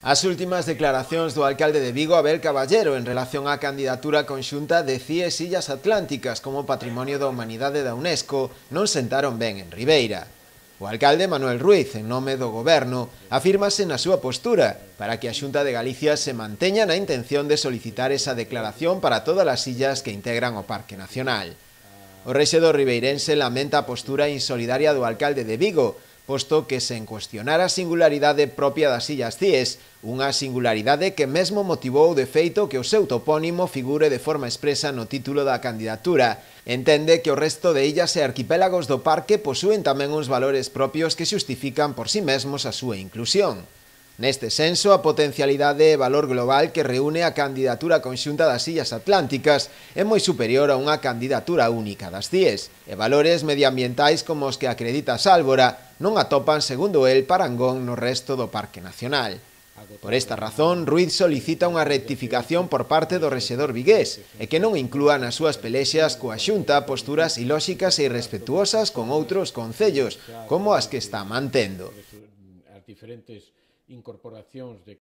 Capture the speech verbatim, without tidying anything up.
As últimas declaracións do alcalde de Vigo, Abel Caballero, en relación á candidatura conxunta de C I E S Illas Atlánticas como Patrimonio da Humanidade da UNESCO non sentaron ben en Ribeira. O alcalde Manuel Ruiz, en nome do goberno, afírmase na súa postura para que a Xunta de Galicia se manteña na intención de solicitar esa declaración para todas as illas que integran o Parque Nacional. O rexedor ribeirense lamenta a postura insolidaria do alcalde de Vigo, posto que sen cuestionar a singularidade propia das Illas Cíes, unha singularidade que mesmo motivou de feito que o seu topónimo figure de forma expresa no título da candidatura. Entende que o resto de illas e arquipélagos do parque posúen tamén uns valores propios que xustifican por si mesmos a súa inclusión. Neste senso, a potencialidade e valor global que reúne a candidatura conxunta das Illas Atlánticas é moi superior a unha candidatura única das Cíes, e valores medioambientais como os que acredita Sálvora non atopan, segundo el, parangón no resto do Parque Nacional. Por esta razón, Ruiz solicita unha rectificación por parte do rexedor vigués e que non inclúa nas súas pelexas coa Xunta posturas ilóxicas e irrespetuosas con outros concellos, como as que está mantendo. As diferentes incorporacións de